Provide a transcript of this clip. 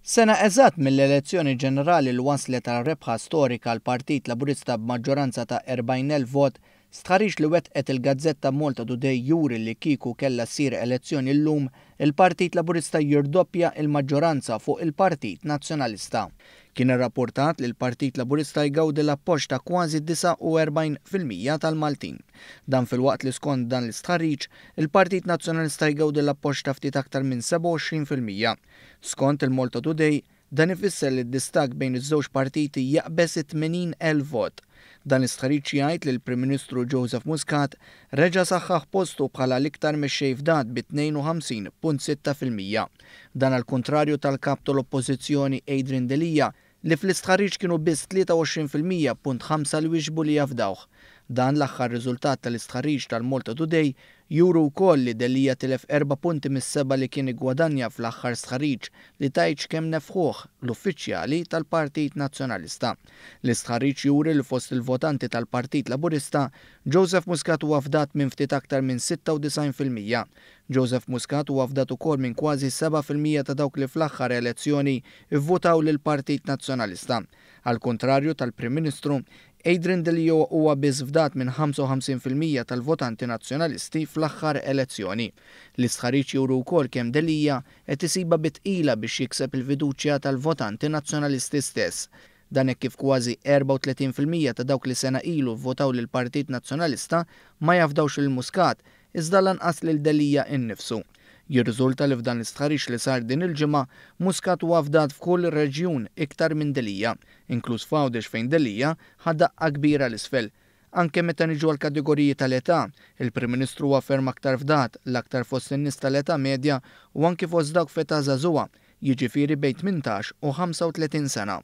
Sena eżatt mill-elezzjoni ġenerali li wasslet għal rebħa storika għall-Partit Laburista b'maġġoranza ta' 40,000 vot, stħarriġ li wettqet il-gazzetta Malta Today juri li kieku kellha ssir elezzjoni llum, il-Partit Laburista jirdoppja il-maġġoranza fuq il-Partit Nazzjonalista. Kien irrapportat li l-Partit Laburista jgawdi l-appoġġ ta' kważi 49% tal-Maltin. Dan filwaqt li skont dan l-istħarriġ, il-Partit Nazzjonalista jgawdi l-appoġġ ta' ftit aktar minn 27%. Skont il-Malta Today, dan ifisser li d-distakk bejn iż-żewġ partiti jaqbeż it-80,000 vot. Dan l-istħarriġ jgħid li l-Prim Ministru Joseph Muscat reġa' saħħaħ postu bħala l-iktar mexxej fdat bi 52.6%. Dan għal kontrarju tal-kap tal-Oppożizzjoni Adrian Delia, li fl-istħarriġ kienu biss 23.5% li wieġbu li jafdawh. Dan l-aħħar riżultat tal-istħarriġ tal-Malta Today juru wkoll li Delia tilef 4 punti mis-seba' li kien igwadanja fl-aħħar stħarriġ li tgħidx kemm nefħuh l-uffiċjali tal-Partit Nazzjonalista. L-istħarriġ juri li fost il-votanti tal-Partit Laburista, Joseph Muscat huwa fdat minn ftit aktar minn 96%. Joseph Muscat huwa fdat ukoll minn kważi 7% ta' dawk li fl-aħħar elezzjoni ivvutaw lill-Partit Nazzjonalista. Għal kontrarju tal-Prim Ministru, Adrian Delia huwa biss fdat minn 55% tal-votanti nazzjonalisti fl-aħħar elezzjoni. L-istħarriġ juru wkoll kemm Delia qed isibha bi tqila biex jikseb il-fiduċja tal-votanti nazzjonalisti stess. Dan hekk kif kważi 34% ta' dawk li sena ilu vvotaw lill-Partit Nazzjonalista ma jafdawx lil Muscat, iżda lanqas lil Delia innifsu. Jirriżulta li f'dan l-istħarriġ li sar din il-ġimgħa, Muscat huwa fdat f'kull reġjun iktar minn Delia, inkluż f'Għawdex fejn Delia ħa daqqa kbira 'l isfel. Anke meta niġu għal kategoriji tal-età, il-Prim Ministru huwa ferm aktar fdat, l-aktar fost in-nies tal-età medja u anki fost dawk f'età żagħżugħa, jiġifieri bejn 18 u 35 sena.